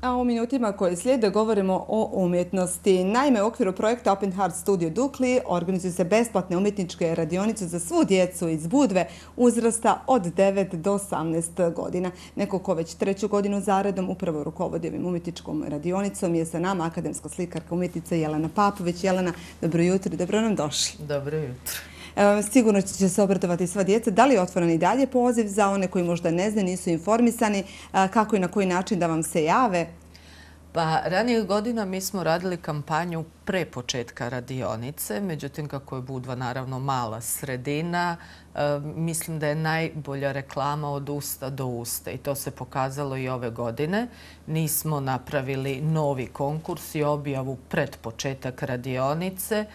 A u minutima koje slijede govorimo o umjetnosti. Naime, u okviru projekta Open Heart Studio Dukli organizuju se besplatne umjetničke radionice za svu djecu iz Budve uzrasta od 9 do 18 godina. Neko ko već treću godinu zaredom upravo rukovodi ovim umjetničkom radionicom je sa nama akademska slikarka umjetnica Jelena Papović. Jelena, dobro jutro i dobro nam došli. Dobro jutro. Sigurno će se obradovati sva djeca. Da li je otvoren i dalje poziv za one koji možda ne znaju, nisu informisani, kako i na koji način da vam se jave? Pa ranijih godina mi smo radili kampanju pre početka radionice, međutim kako je Budva naravno mala sredina, mislim da je najbolja reklama od usta do usta i to se pokazalo i ove godine. Nismo napravili novi konkurs i objavu pred početak radionice,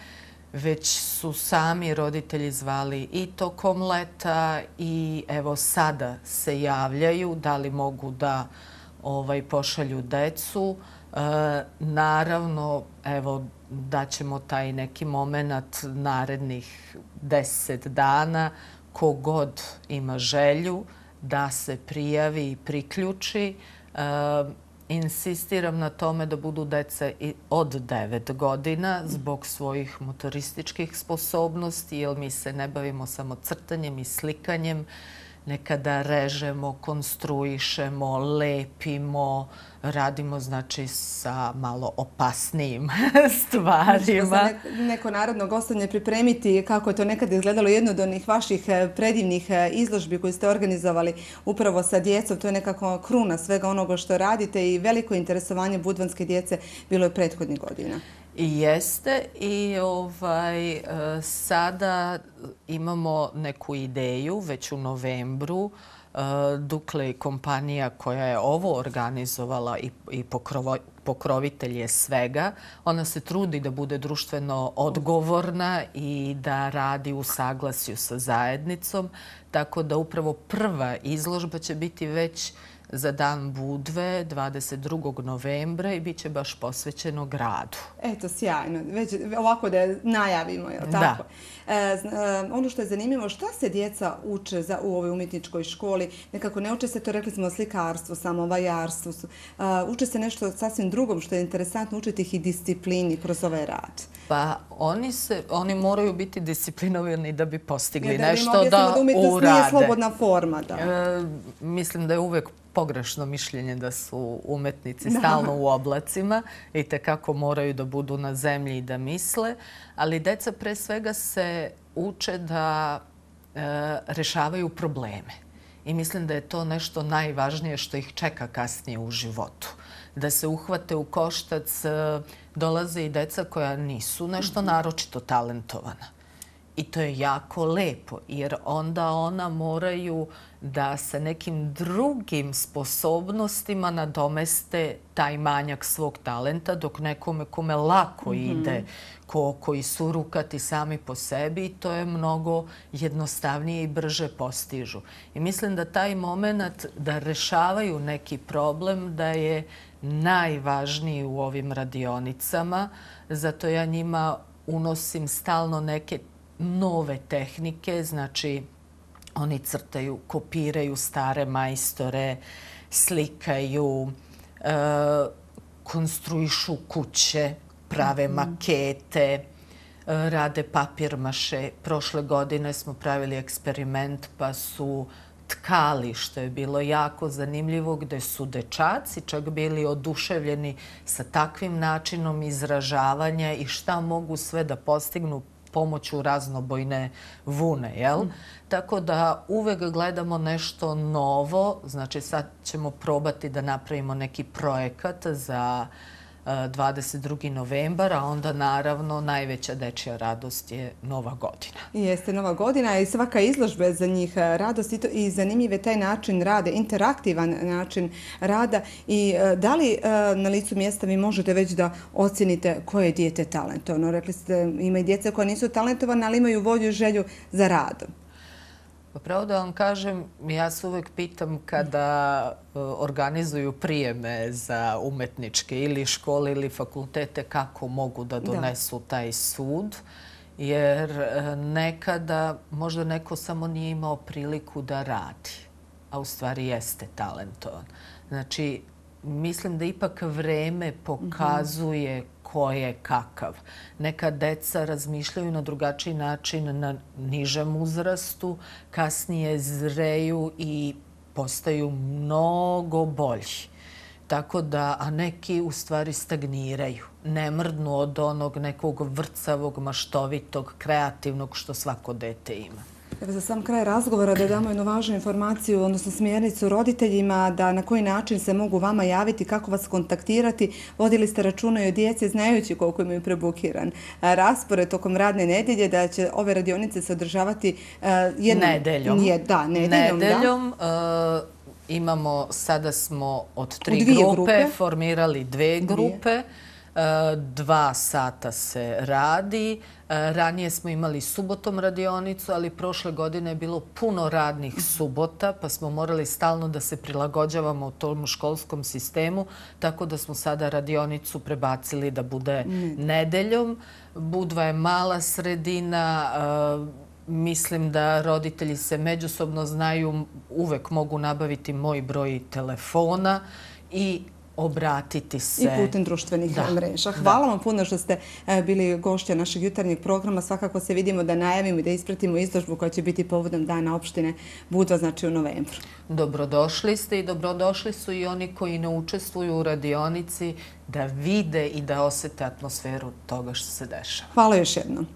već su sami roditelji zvali i tokom leta i evo sada se javljaju da li mogu da pošalju decu. Naravno, evo, daćemo taj neki moment narednih 10 dana. Kogod ima želju da se prijavi i priključi. Insistiram na tome da budu dece od 9 godina zbog svojih motorističkih sposobnosti, jer mi se ne bavimo samo crtanjem i slikanjem. Nekada režemo, konstruišemo, lepimo, radimo znači sa malo opasnijim stvarima. Neko narodno gostovanje pripremiti kako je to nekad izgledalo, jedno od onih vaših predivnih izložbi koje ste organizovali upravo sa djecom. To je nekako kruna svega onoga što radite i veliko interesovanje budvanske djece bilo je prethodnih godina. I jeste i sada imamo neku ideju već u novembru. Dukle kompanija koja je ovo organizovala i pokrovitelj je svega. Ona se trudi da bude društveno odgovorna i da radi u saglasju sa zajednicom. Tako da upravo prva izložba će biti već za Dan Budve 22. novembra i bit će baš posvećeno gradu. Eto, sjajno. Već ovako da je najavimo, je li tako? Ono što je zanimljivo, šta se djeca uče u ovoj umjetničkoj školi? Nekako ne uče se, to rekli smo, slikarstvu, samovajarstvu. Uče se nešto sasvim drugom što je interesantno, učiti ih i disciplini kroz ovaj rad. Pa oni moraju biti disciplinovani da bi postigli nešto da urade. Da umjetnost nije slobodna forma. Mislim da je uvek pogrešno mišljenje da su umetnici stalno u oblacima i tekako moraju da budu na zemlji i da misle, ali deca pre svega se uče da rešavaju probleme. I mislim da je to nešto najvažnije što ih čeka kasnije u životu. Da se uhvate u koštac, dolaze i deca koja nisu nešto naročito talentovana. I to je jako lepo, jer onda ona moraju da sa nekim drugim sposobnostima nadomeste taj manjak svog talenta, dok nekome kome lako ide, koji su rukati sami po sebi, to je mnogo jednostavnije i brže postižu. I mislim da taj moment da rešavaju neki problem, da je najvažniji u ovim radionicama. Zato ja njima unosim stalno neke nove tehnike, znači oni crtaju, kopiraju stare majstore, slikaju, konstruišu kuće, prave makete, rade papir maše. Prošle godine smo pravili eksperiment pa su tkali, što je bilo jako zanimljivo, gde su dečaci čak bili oduševljeni sa takvim načinom izražavanja i šta mogu sve da postignu pomoću raznobojne vune, jel? Tako da uvek gledamo nešto novo, znači sad ćemo probati da napravimo neki projekat za 22. novembar, a onda naravno najveća dečja radost je Nova godina. Jeste Nova godina i svaka izložba je za njih radost i zanimljiv je taj način rada, interaktivan način rada. I da li na licu mjesta vi možete već da ocjenite koje je dijete talentovano? Rekli ste ima i djeca koja nisu talentovana, ali imaju volju i želju za radom. Pa pravo da vam kažem, ja se uvek pitam kada organizuju prijeme za umetničke ili škole ili fakultete kako mogu da donesu taj sud. Jer nekada možda neko samo nije imao priliku da radi, a u stvari jeste talentovan. Znači, mislim da ipak vreme pokazuje ko je kakav. Neka deca razmišljaju na drugačiji način na nižem uzrastu, kasnije zreju i postaju mnogo bolji. Tako da, a neki u stvari stagniraju. Ne mrdnu od onog nekog vrcavog, maštovitog, kreativnog što svako dete ima. Evo za sam kraj razgovora da damo jednu važnu informaciju, odnosno smjernicu roditeljima, da na koji način se mogu vama javiti, kako vas kontaktirati. Vodili ste računa i o djeci, znajući koliko imaju prebukiran raspored tokom radne nedjelje, da će ove radionice se održavati nedeljom. Da, nedeljom. Imamo, sada smo od 3 grupe formirali 2 grupe. 2 sata se radi. Ranije smo imali subotom radionicu, ali prošle godine je bilo puno radnih subota, pa smo morali stalno da se prilagođavamo u tom školskom sistemu, tako da smo sada radionicu prebacili da bude nedeljom. Budva je mala sredina, mislim da roditelji se međusobno znaju, uvek mogu nabaviti moj broj telefona i obratiti se. I putem društvenih mreža. Hvala vam puno što ste bili gošća našeg jutarnjeg programa. Svakako se vidimo da najavimo i da ispratimo izložbu koja će biti povodom Dana opštine Budva, znači u novembru. Dobrodošli ste i dobrodošli su i oni koji ne učestvuju u radionici da vide i da osete atmosferu toga što se dešava. Hvala još jednom.